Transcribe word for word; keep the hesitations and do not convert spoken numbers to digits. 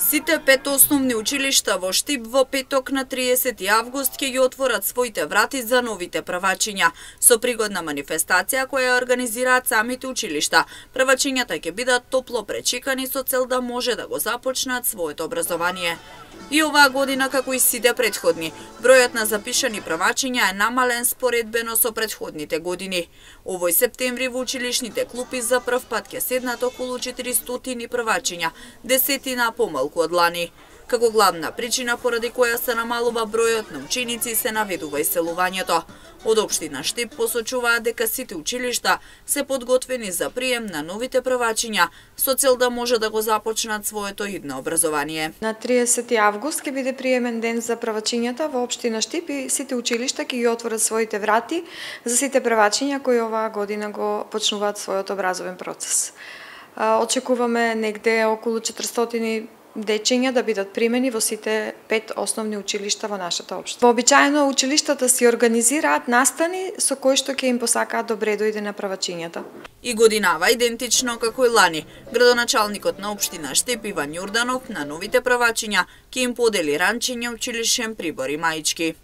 Сите пет основни училишта во Штип во петок на триесети август ќе ги отворат своите врати за новите првачиња. Со пригодна манифестација која организираат самите училишта, првачињата ќе бидат топло пречекани со цел да може да го започнат своето образование. И оваа година, како и сите претходни, бројот на запишани првачиња е намален споредбено со претходните години. Овој септември во училишните клупи за прв пат ќе седнат околу четиристотини првачиња, десетина помалку од лани. Како главна причина поради која се намалува бројот на ученици се наведува иселувањето. Од општина Штип посочуваат дека сите училишта се подготвени за прием на новите првачиња со цел да може да го започнат своето идно образование. На триесети август ќе биде приемен ден за првачињата во општина Штип и сите училишта ќе ги отворат своите врати за сите првачиња кои оваа година го почнуваат својот образовен процес. Очекуваме негде околу четиристотини дечиња да бидат примени во сите пет основни училишта во нашата општина. Вообичаено училиштата си организираат настани со кои што ќе им посакаат добре дојде на првачињата. И годинава идентично како и лани, градоначалникот на општина Штип Иван Јорданов на новите првачиња ќе им подели ранчиња, училишен прибор и маички.